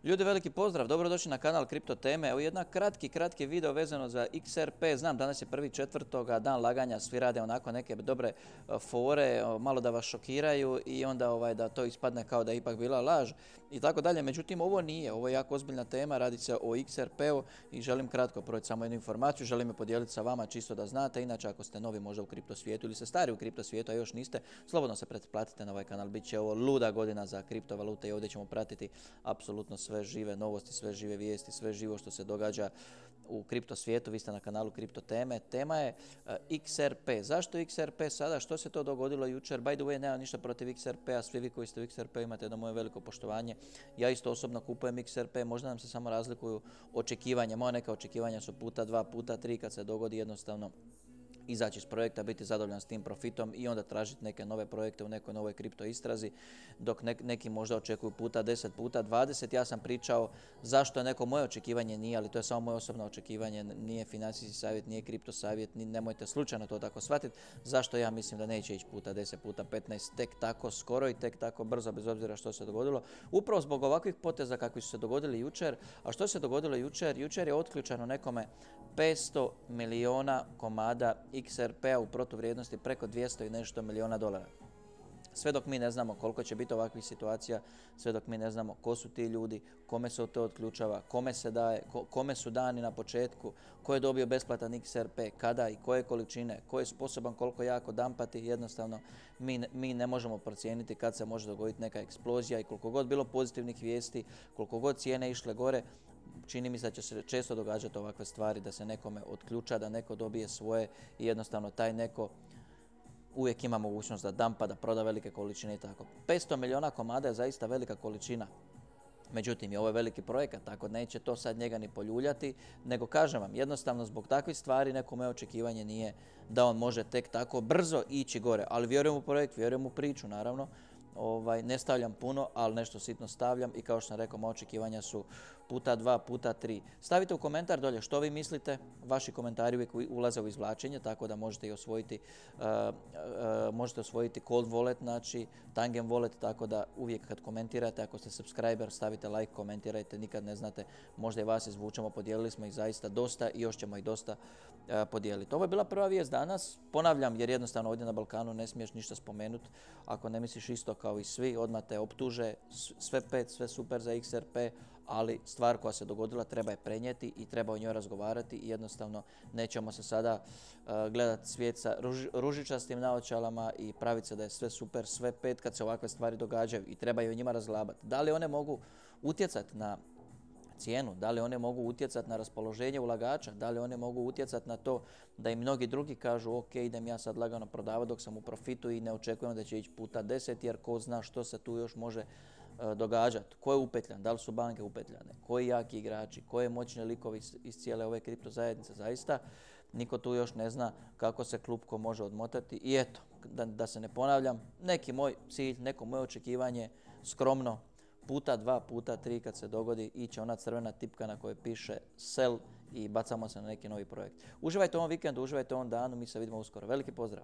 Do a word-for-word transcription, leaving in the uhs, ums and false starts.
Ljudi, veliki pozdrav, dobrodošli na kanal Kripto teme. Evo jedna kratki, kratki video vezano za X R P. Znam, danas je prvi četvrtoga, dan laganja, svi rade onako neke dobre fore, malo da vas šokiraju i onda ovaj, da to ispadne kao da je ipak bila laž i tako dalje. Međutim, ovo nije, ovo je jako ozbiljna tema, radi se o X R P-u i želim kratko proći samo jednu informaciju, želim je podijeliti sa vama čisto da znate. Inače, ako ste novi možda u kripto svijetu ili ste stari u kripto svijetu, a još niste, slobodno se pretplatite na ovaj kanal. Biće ovo luda godina za kriptovalute i ovdje ćemo pratiti apsolutno sve žive novosti, sve žive vijesti, sve živo što se događa u kripto svijetu. Vi ste na kanalu Kripto teme. Tema je uh, X R P. Zašto X R P sada? Što se to dogodilo jučer? By the way, nema ništa protiv X R P-a. Svi vi koji ste u X R P imate jedno moje veliko poštovanje. Ja isto osobno kupujem X R P. Možda nam se samo razlikuju očekivanja. Moja neka očekivanja su puta dva, puta tri kad se dogodi jednostavno izaći iz projekta, biti zadovoljan s tim profitom i onda tražiti neke nove projekte u nekoj novoj kripto istrazi, dok ne, neki možda očekuju puta deset, puta dvadeset. Ja sam pričao zašto je neko moje očekivanje nije, ali to je samo moje osobno očekivanje, nije financijski savjet, nije kripto savjet, ni, nemojte slučajno to tako shvatiti. Zašto ja mislim da neće ići puta deset, puta petnaest, tek tako skoro i tek tako brzo, bez obzira što se dogodilo. Upravo zbog ovakvih poteza kakvi su se dogodili jučer. A što se dogodilo jučer? Jučer je otključano nekome petsto milijuna komada X R P-a u protuvrijednosti preko dvjesto i nešto milijuna dolara. Sve dok mi ne znamo koliko će biti ovakvih situacija, sve dok mi ne znamo ko su ti ljudi, kome se to otključava, kome se daje, ko, kome su dani na početku, ko je dobio besplatan X R P, kada i koje količine, ko je sposoban koliko jako dampati, jednostavno mi, mi ne možemo procijeniti kad se može dogoditi neka eksplozija i koliko god bilo pozitivnih vijesti, koliko god cijene išle gore, čini mi se da će se često događati ovakve stvari, da se nekome otključa, da neko dobije svoje i jednostavno taj neko uvijek ima mogućnost da dampa, da proda velike količine i tako. petsto milijuna komada je zaista velika količina. Međutim, je ovo veliki projekat, tako neće to sad njega ni poljuljati, nego kažem vam, jednostavno zbog takvih stvari neko moje očekivanje nije da on može tek tako brzo ići gore. Ali vjerujem u projekt, vjerujem u priču, naravno. Ovaj, ne stavljam puno, ali nešto sitno stavljam i kao što sam rekao, moja očekivanja su puta dva, puta tri. Stavite u komentar dolje što vi mislite, vaši komentari uvijek ulaze u izvlačenje, tako da možete i osvojiti, uh, uh, možete osvojiti Cold Wallet, znači Tangem Wallet, tako da uvijek kad komentirate, ako ste subscriber, stavite like, komentirajte, nikad ne znate, možda i vas izvučemo, podijelili smo ih zaista dosta i još ćemo ih dosta uh, podijeliti. Ovo je bila prva vijest danas, ponavljam jer jednostavno ovdje na Balkanu ne smiješ ništa spomenuti, ako ne misliš isto kao i svi, odmah te optuže, sve pet, sve super za X R P, ali stvar koja se dogodila treba je prenijeti i treba o njoj razgovarati i jednostavno nećemo se sada uh, gledati svijet sa ruž, ružičastim naočalama i praviti se da je sve super, sve pet kad se ovakve stvari događaju i treba i o njima razglabati. Da li one mogu utjecati na cijenu, da li one mogu utjecati na raspoloženje ulagača, da li one mogu utjecati na to da i mnogi drugi kažu ok, idem ja sad lagano prodavati dok sam u profitu i ne očekujem da će ići puta deset jer ko zna što se tu još može uh, događati. Ko je upetljan, da li su banke upetljane, koji jaki igrači, koje moćne likovi iz, iz cijele ove kripto zajednice, zaista niko tu još ne zna kako se klupko može odmotati i eto, da, da se ne ponavljam, neki moj cilj, neko moje očekivanje, skromno, puta dva, puta tri kad se dogodi iće ona crvena tipka na kojoj piše sell i bacamo se na neki novi projekt. Uživajte u ovom vikendu, uživajte u ovom danu, mi se vidimo uskoro. Veliki pozdrav!